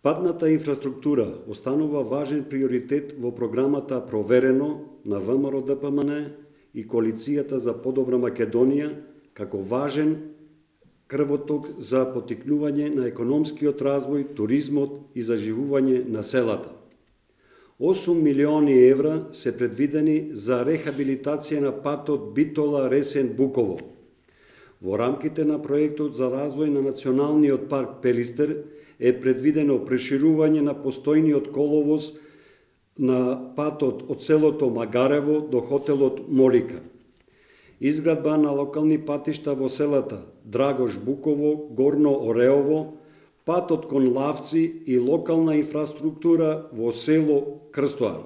Патната инфраструктура останува важен приоритет во програмата Проверено на ВМРО-ДПМН и Коалицијата за подобра Македонија, како важен крвоток за поттикнување на економскиот развој, туризмот и заживување на селата. 8 милиони евра се предвидени за рехабилитација на патот Битола-Ресен-Буково. Во рамките на проектот за развој на Националниот парк Пелистер е предвидено проширување на постојниот коловоз на патот од селото Магарево до хотелот Молика, изградба на локални патишта во селата Драгош Буково, Горно Ореово, патот кон Лавци и локална инфраструктура во село Крстоа.